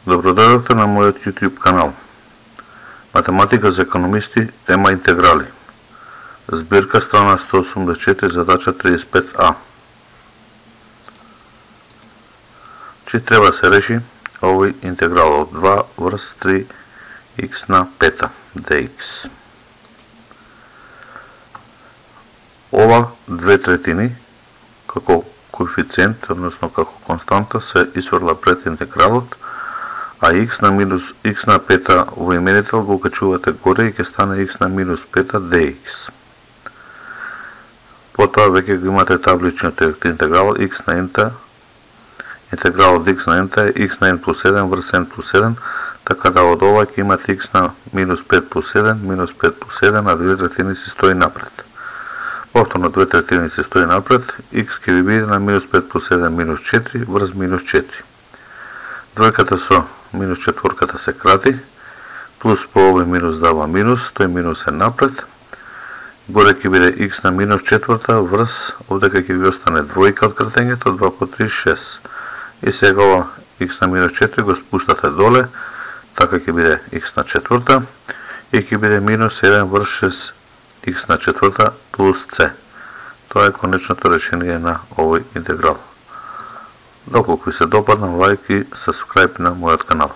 Добродојдовте на мојот YouTube канал. Математика за економисти, тема интеграли. Збирка страна 184, задача 35А. Че треба се реши овој интеграл од 2 врз 3x на пета dx. Ова 2/3 како коефициент, односно како константа, се исфрла пред интегралот, а x на пета во именител го качувате горе и ќе стане x на минус пета dx. Потоа веќе го имате табличниот интеграл x на n-та. Интегралот x на n-та е x на n плюс 1 врз n плюс 1, така да од ова ќе имате x на минус 5 плюс 1, минус 5 плюс 1, а 2/3 се стои напред. Повторно 2/3 се стои напред, x ќе ви биде на минус 5 плюс 1 минус 4 врз минус 4. Двојката со минус четворката се крати, плюс по овој минус дава минус, тој минус е напред. Горе ќе биде x на минус четврта врз, овдека ќе ви остане двојка од кратењето, 2 по 3, 6. И сега ова x на минус 4 го спуштате доле, така ќе биде x на четврта и ќе биде минус 1 врз 6 x на четврта плюс c. Тоа е конечното решение на овој интеграл. Доколку ви се допадна, лајк и сабскрајб на мојот канал.